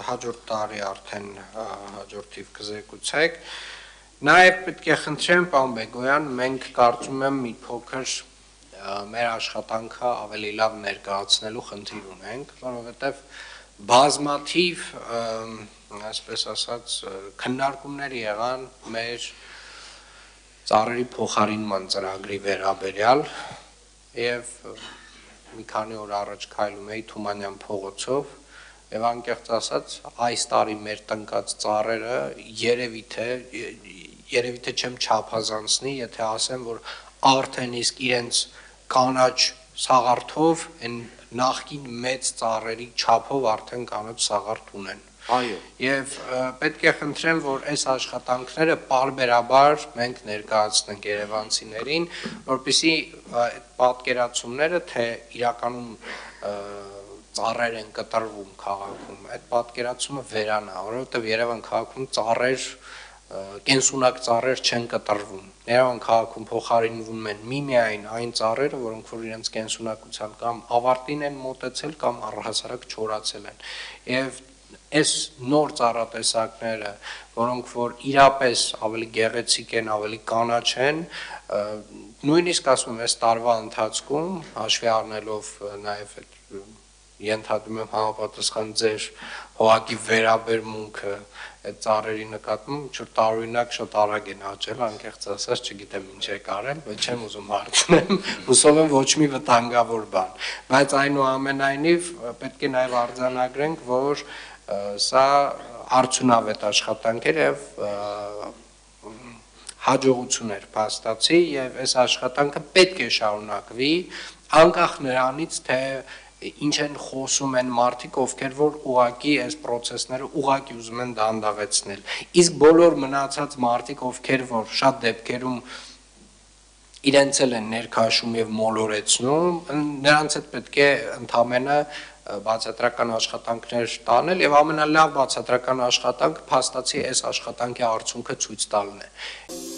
հաջորդ տարի արդեն հաջորդ թիվ կզեկուցեք։ Նաև պետք է խնդրեմ պարոն Բեգոյան, մենք կարծում եմ մի փոքր մեր աշխատանքը ավելի լավ ներկայացնելու խնդիր ունենք, որովհետև բազմաթիվ, այսպես ասած, քննարկումներ եղան մեր ծառերի փոխարինման ծրագրի վերաբերյալ եւ մի քանի օր առաջ քայլում էի Թումանյան փողոցով եւ անկեղծ ասած այս տարի մեր տնկած ծառերը երևի թե չեմ չափազանցնի, եթե ասեմ, որ արդեն իսկ իրենց կանաչ սաղարթով այն նախկին մեծ ծառերի չափով արդեն կանաչ սաղարթ ունեն։ Այո։ Եվ պետք է խնդրեմ, որ այս աշխատանքները պարբերաբար մենք ներկայացնենք երևանցիներին, որպեսզի այդ պատկերացումները, թե իրականում ծառեր են կտրվում քաղաքում, այդ պատկերացումը վերանա, որովհետև Երևան քաղաքում ծառեր կենսունակ ծառեր չեն կտրվում։ Երևան քաղաքում փոխարինվում են միմիայն այն ծառերը, որոնք որ իրենց կենսունակության կամ ավարտին են մոտեցել կամ առհասարակ չորացել են։ Եվ այս նոր ծառատեսակները, որոնք որ իրապես ավելի գեղեցիկ են, ավելի կանաչ են, նույնիսկ ասում եմ, այս տարվա ընթացքում հաշվի առնելով նաև այդ ենթադրում եմ համապատասխան ձեր հողակի վերաբերմունքը այդ ծառերի նկատմամբ տարօրինակ շատ արագ են աճել, անկեղծ ասած չգիտեմ ինչ եք արել, բայց չեմ ուզում հարցնեմ, հուսով եմ ոչ մի վտանգավոր բան, բայց այնուամենայնիվ պետք է նաև արձանագրենք, որ սա արդյունավետ աշխատանք էր եւ հաջողություններ փաստացի եւ այս աշխատանքը պետք է շարունակվի անկախ նրանից թե ինչ են խոսում են մարդիկ, ովքեր որ ուղակի այս process-ները ուղակի ուզում են դանդաղեցնել։ Իսկ բոլոր մնացած մարդիկ, ովքեր որ շատ դեպքերում իրենց էլ են ներքաշում եւ մոլորեցնում, նրանց հետ պետք է ընդամենը բացատրական աշխատանքներ տանել եւ ամենալավ բացատրական աշխատանքը փաստացի այս աշխատանքի արդյունքը ցույց տալն է։